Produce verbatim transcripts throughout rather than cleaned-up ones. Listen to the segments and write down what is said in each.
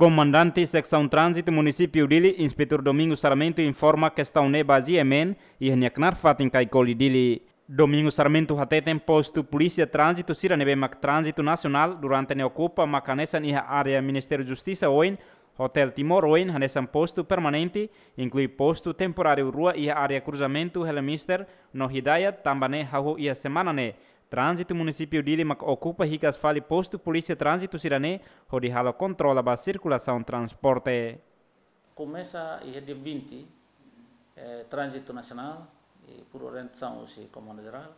Komandante Seksaun Tránzitu Munisípiu Dili, Inspetór Domingos Sarmento, informa kestaun ne'e ba GMN iha nia knaar fatin Kaikoli, Dili. Domingos Sarmento hateten postu polísia tránzitu sira ne'ebé mak tránzitu nasionál durante ne'e okupa mak hanesan iha área Ministériu Justisa oin, Hotel Timor oin hanesan postu permanente, inklui postu temporáriu rua iha área kruzamentu Helen Mister no Hidayat, tanba ne'e hahú iha semana ne'e tránzitu Munisípiu Dili mak okupa hikas fali postu polísia tránzitu sira-ne'e hodi halo kontrola ba sirkulasaun transporte. Komesa iha dia vinte, eh, Tránzitu Nasionál, i por orientasaun husi Komandu Jerál,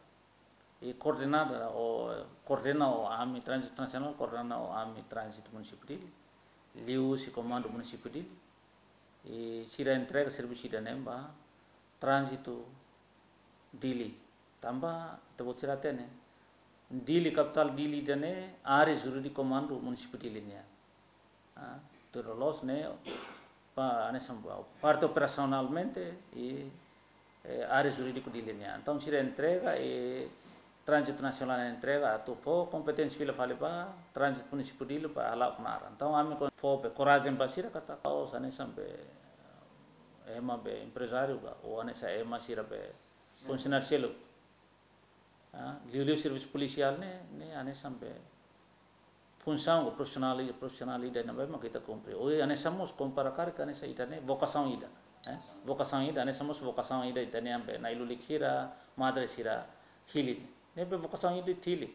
i koordena ho, koordena ho ami Tránzitu Nasionál, koordena ho ami Tránzitu Munisípiu Dili, liuhusi Komandu Munisípiu Dili, i sira entrega servisu ida-ne'e ba Tránzitu Dili. Tanba ita-boot sira hatene, Dili, kapitál Dili ida-ne'e área jurídiku Komandu Munisípiu Dili nian. Ah, tuir loloos ne'e, pa, hanesan ba, parte operasionalmente i, eh, área jurídiku Dili nian. Entaun sira entrega, i Tránzitu Nasionál entrega atu fó kompeténsia fila fali ba Tránzitu Munisípiu Dili para hala'o knaar. Entaun ami kon-, fó be korajen ba sira katak, oh, hanesan be, ema be emprezáriu ka, ou hanesan ema sira be funsionáriu seluk. Ah, liuliu servisu polisiál ne'e, ne'e hanesan be funsaun ka profisionál, profisionál ida ne'ebé mak ita kumpre. Ou hanesan mós kompara karik hanesan ita-nia vokasaun ida, eh? Vokasaun ida, hanesan mós vokasaun ida ita-nia be na'i-lulik sira, madre sira hili. Ne'ebé vokasaun ida hili.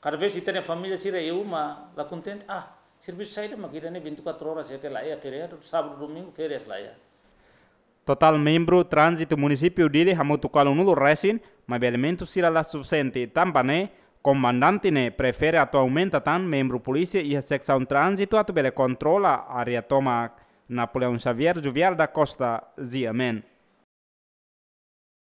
Kada vez ita-nia família sira iha uma la kontente, ah, servisu saida mak ita-nia vinte e quatro horas iha ke la iha feriadu, sábadu, domingu, férias la iha. Totál membru tránzitu Munisípiu Dili hamutuk ualunulu resin, maibé elementu sira la sufisiente, tanba ne'e komandante ne'e prefere atu aumenta tan membru polísia iha seksaun tránzitu atu bele kontrola área tomak. Napoleão Xavier, Juvial da Costa, GMN.